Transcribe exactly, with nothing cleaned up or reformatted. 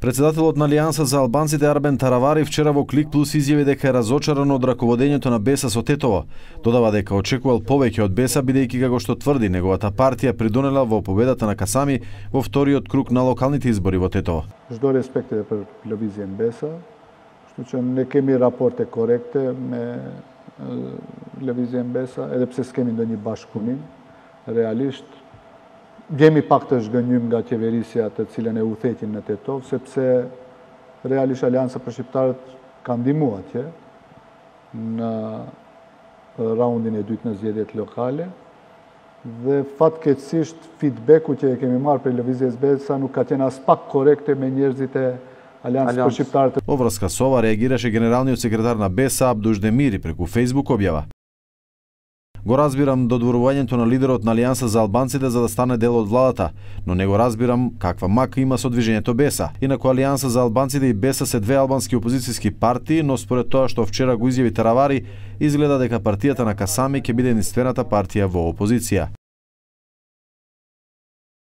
Председателот на Алијанса за албанците Арбен Таравари вчера во Клик Плюс изјави дека е разочаран од раководењето на Беса со Тетово. Додава дека очекувал повеќе од Беса, бидејќи како што тврди неговата партија придонела во победата на Касами во вториот круг на локалните избори во Тетово. Ждо респекте per телевизијен Беса, што че не кеми рапорте коректе ме телевизијен Беса, еде псе скеми до ни башкунин, реалишт. Геми пакташ гënjym nga qeverisja të cilën e udhëheqin në Tetov, sepse realisht Alianca për Shqiptarët ka ndihmuar atje në raundin e dytë në zgjedhjet lokale dhe fatkeqësisht feedbacku që e kemi marrë për lëvizjes Besa nuk ka qenë as pak korrekte me njerëzit e Aliancës për Shqiptarët. Во врска со ова реагираше генералниот секретар на Беса Абдуш Демири преку Facebook објава. Го разбирам додворувањето на лидерот на Алијанса за албанците за да стане дел од владата, но не го разбирам каква мака има со движењето Беса. Инаку Алијанса за албанците и Беса се две албански опозицијски партии, но според тоа што вчера го изјави Таравари, изгледа дека партијата на Касами ќе биде единствената партија во опозиција.